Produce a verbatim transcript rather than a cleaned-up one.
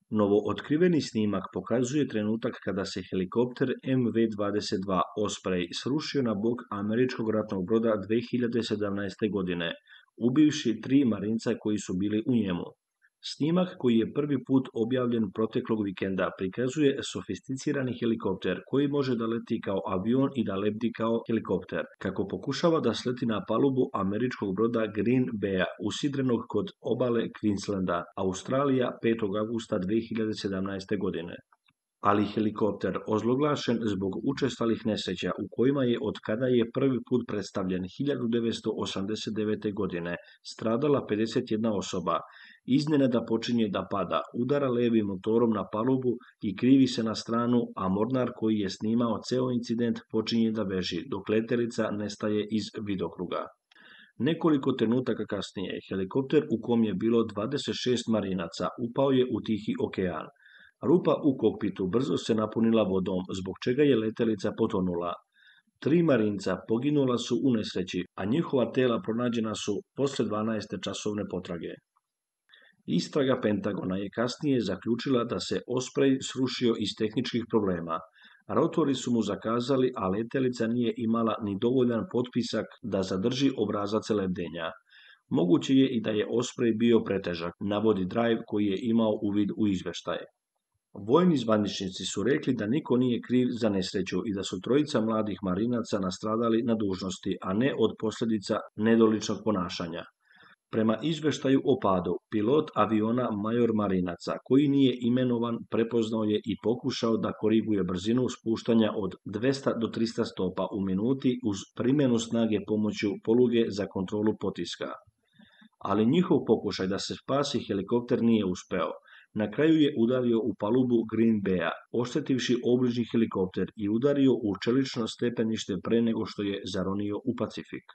Novootkriveni snimak pokazuje trenutak kada se helikopter M V dvadeset dva Osprey srušio na bok američkog ratnog broda dve hiljade sedamnaeste. godine, ubivši tri marinca koji su bili u njemu. Snimak koji je prvi put objavljen proteklog vikenda prikazuje sofisticirani helikopter koji može da leti kao avion i da lebdi kao helikopter, kako pokušava da sleti na palubu američkog broda Green Bay-a usidrenog kod obale Queenslanda, Australija, petog avgusta dve hiljade sedamnaeste. godine. Ali helikopter, ozloglašen zbog učestalih nesreća u kojima je od kada je prvi put predstavljen hiljadu devetsto osamdeset devete. godine stradala pedeset jedna osoba, iznenada počinje da pada, udara levim motorom na palubu i krivi se na stranu, a mornar koji je snimao ceo incident počinje da beži, dok letelica nestaje iz vidokruga. Nekoliko trenutaka kasnije, helikopter u kom je bilo dvadeset šest marinaca upao je u Tihi okean. Rupa u kokpitu brzo se napunila vodom, zbog čega je letelica potonula. Tri marinca poginula su u nesreći, a njihova tela pronađena su posle dvanaeste časovne potrage. Istraga Pentagona je kasnije zaključila da se Osprey srušio iz tehničkih problema. Rotori su mu zakazali, a letelica nije imala ni dovoljan potpisak da zadrži obrazac lebdenja. Moguće je i da je Osprey bio pretežak, navodi Drive koji je imao uvid u izveštaje. Vojni zvaničnici su rekli da niko nije kriv za nesreću i da su trojica mladih marinaca nastradali na dužnosti, a ne od posljedica nedoličnog ponašanja. Prema izveštaju o padu, pilot aviona major marinaca, koji nije imenovan, prepoznao je i pokušao da koriguje brzinu spuštanja od dvesta do trista stopa u minuti uz primjenu snage pomoću poluge za kontrolu potiska. Ali njihov pokušaj da se spasi helikopter nije uspeo. Na kraju je udario u palubu Green Bay-a, oštetivši obližnji helikopter i udario u čelično stepenište pre nego što je zaronio u Pacifik.